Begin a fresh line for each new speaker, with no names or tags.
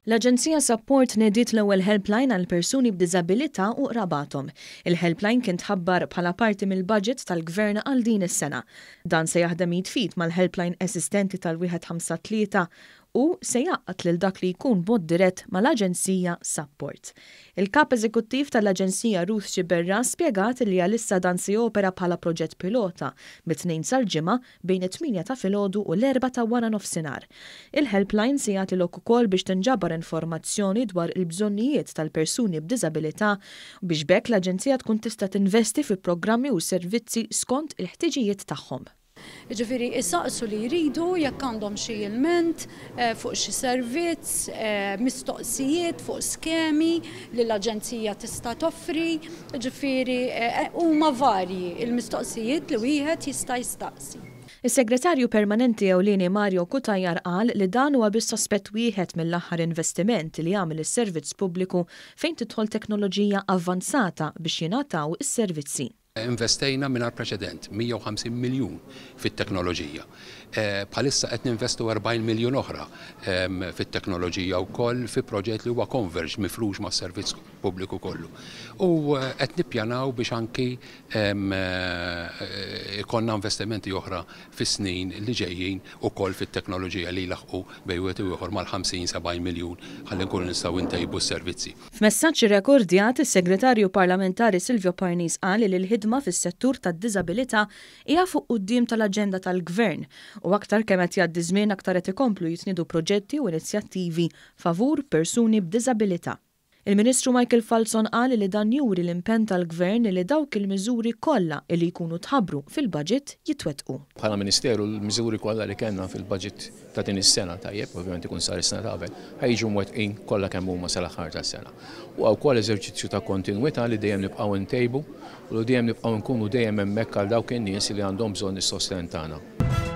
L-Aġenzija Sapport nediet l-ewwel helpline għal persuni b'diżabilità u qrabathom. Il-helpline kien tħabbar bħala parti mill-budget tal-Gvern għal din is-sena. Dan se jaħdem id f'id mal-helpline eżistenti tal-153 u se jgħaqqad lil dak li jkun b'mod dirett mal-Aġenzija Sapport. Il-Kap Eżekuttiv tal-Aġenzija Ruth Sciberras spjegat li għalissa dan se jopera bħala proġett pilota mit-Tnejn sal-Ġimgħa bejn it-tmienja ta' filgħodu u l-erbgħa ta' waranofsinhar. Il-helpline se jagħti lok ukoll biex tinġabar informazzjoni dwar il-bżonnijiet tal-persuni b'diżabilità biex b'hekk l-Aġenzija tkun tista' tinvesti fi programmi u servizzi skont il-ħtiġijiet tagħhom.
Jiġifieri isaqsu li jridu jekk għandhom xi ilment fuq xi servizz, mistoqsijiet fuq skemi li l-aġenzija tista' toffri, jiġifieri huma varji l-mistoqsijiet li wieħed jista' jistaqsi.
Is-Segretarju Permanenti Ewlieni Mario Cutajar qal li dan huwa biss aspett wieħed mill-aħħar investiment li għamel is-Servizz Pubbliku fejn tidħol teknoloġija avvanzata biex jingħataw is-servizzi.
Investejna mingħajr preċedent 150 miljun fit-teknoloġija. Bħalissa qed ninvestu 40 miljun oħra fit-teknoloġija wkoll fi proġett li huwa converged mifrux mas-servizz pubbliku kollu. U qed nippjanaw biex anki ikollna investimenti oħra fis-snin li ġejjin ukoll fit-teknoloġija li jlaħħqu bejn wieħed u ieħor mal-50, 70 miljun ħalli nkunu nistgħu ntejbu s-servizzi.
F'messaġġ irrekordjat, is-Segretarju Parlamentari Silvio Parnis qal li l-ħidma fis-settur tad-diżabilità hija fuq quddiem tal-aġenda tal-Gvern u aktar kemm qed jgħaddi żmien aktar qed ikomplu jitniedu proġetti u inizjattivi favur persuni b'diżabilità. Il-Ministru Michael Falzon qal li dan juri l-impenn tal-Gvern li dawk il-miżuri kollha li jkunu tħabbru fil-budget jitwettqu.
Bħala Ministeru l-miżuri kollha li kellna fil-budget ta' din is-sena, tajjeb, ovvjament ikun sar is-sena ta' qabel, ħa jiġu mwettqin kollha kemm huma sal-aħħar tas-sena. Huwa wkoll eżerċizzju ta' kontinwità li dejjem nibqgħu ntejbu u li dejjem nibqgħu nkunu dejjem hemmhekk għal dawk in-nies li għandhom bżonn is-sostenn tagħna.